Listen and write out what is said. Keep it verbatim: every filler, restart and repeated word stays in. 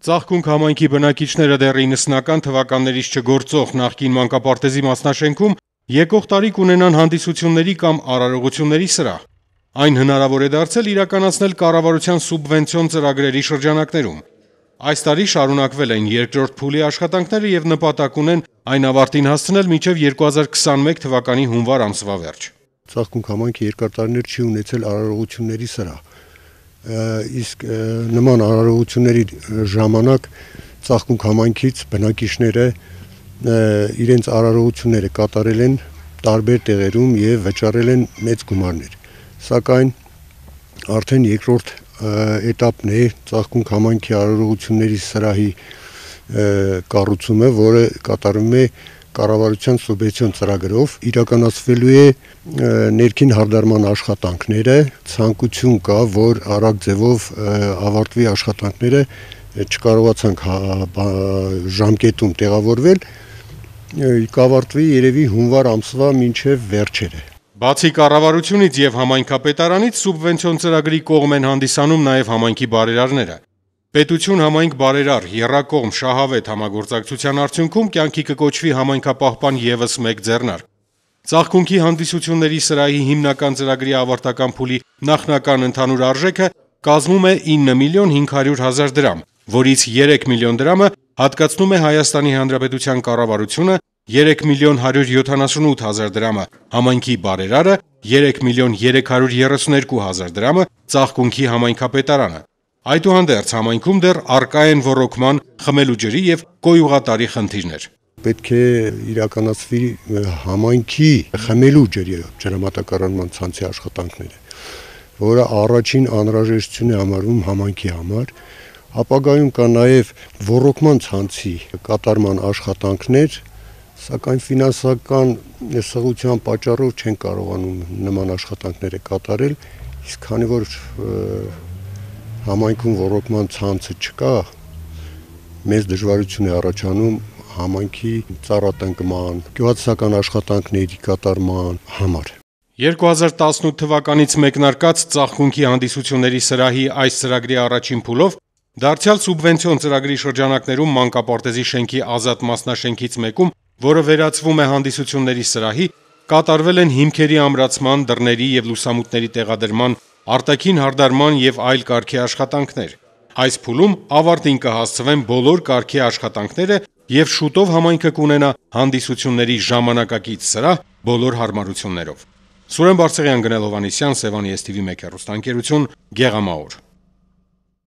Ծաղկունք համայնքի բնակիչները դեռ իննսունական թվականներից չգործող նախկին մանկապարտեզի մասնաշենքում եկող տարի կունենան հանդիսությունների կամ արարողությունների սրահ։ Այն հնարավոր է դարձել իրականացնել կառավարության սուբվենցիոն ծրագրերի շրջանակներում։ Այս տարի շարունակվել են երկրորդ փուլի աշխատանքները եւ նպատակ ունեն այն ավարտին հասցնել մինչեւ երկու հազար քսանմեկ թվականի հունվար ամսվա վերջ։ Ծաղկունք համայնքը երկար տարիներ չի ունեցել արարողությունների սրահ։ Իսկ նման արարողությունների ժամանակ Ծաղկունք համայնքից բնակիչները իրենց արարողությունները կատարել են տարբեր տեղերում եւ վճարել են մեծ գումարներ։ Սակայն արդեն երկրորդ էտապն է Ծաղկունք համայնքի արարողությունների սրահի կառուցումը, որը կատարվում է կառավարության սուբվենցիոն ծրագրով, իրականացվելու է ներքին հարդարման աշխատանքները, ցանկություն կա, որ արագ ձևով ավարտվի աշխատանքները, չկարողացանք ժամկետում տեղավորվել, կավարտվի երևի հունվար ամսվա մինչև վերջերը։ Բացի կառավարությունից եւ համայնքապետարանից սուբվենցիոն ծրագրի կողմ են հանդիսանում նաեւ համայնքի բարերարները։ Պետություն համայնք բարերար եռակողմ շահավետ համագործակցության արդյունքում կյանքի կկոչվի համայնքապահպան եւս մեկ ձեռնարկ։ Ծաղկունքի հանդիսությունների սրահի հիմնական ծրագրի ավարտական փուլի նախնական ընդհանուր արժեքը կազմում է ինը միլիոն հինգ հարյուր հազար դրամ, որից երեք միլիոն դրամը հատկացնում է Հայաստանի Հանրապետության կառավարությունը, երեք միլիոն հարյուր յոթանասունութ հազար դրամը համայնքի բարերարը, երեք միլիոն երեք հարյուր երեսունհինգ հազար դրամը Ծաղկունքի համայնքապետարանը։ Այդուհանդերձ համայնքում դեռ առկա են ոռոգման, խմելու ջրի եւ կոյուղատարի խնդիրներ։ Պետք է իրականացվի համայնքի խմելու ջրի ջրամատակարարման ցանցի աշխատանքները, որը առաջին անհրաժեշտություն է համարվում համայնքի համար։ Ապագայում կա նաեւ ոռոգման ցանցի կատարման աշխատանքներ, սակայն ֆինանսական սղության պատճառով չեն կարողանում նման աշխատանքները կատարել, իսկ քանի որ համայնքում ոռոգման ցանցը չկա, մեծ դժվարություն է առաջանում համայնքի ծառատնկման, գյուղատնտեսական աշխատանքների կատարման համար։ երկու հազար տասնութ թվականից մեկնարկած Ծաղկունքի հանդիսությունների սրահի այս ծրագրի առաջին փուլով դարձյալ սուբվենցիոն ծրագրի շրջանակներում մանկապարտեզի շենքի ազատ մասնաշենքից մեկում, որը վերածվում է հանդիսությունների սրահի, կատարվել են հիմքերի ամրացման, դռների եւ լուսամուտների տեղադրման, արտաքին հարդարման եւ այլ կարգի աշխատանքներ։ Այս փուլում ավարտին կհասցվեն բոլոր կարգի աշխատանքները եւ շուտով համայնքը կունենա հանդիսությունների ժամանակակից սրահ բոլոր հարմարություններով։ Սուրեն Բարսեղյան, Գնել Հովհաննիսյան, Սևանի էս թի վի մեկ հեռուստաընկերություն, Գեղամաոր։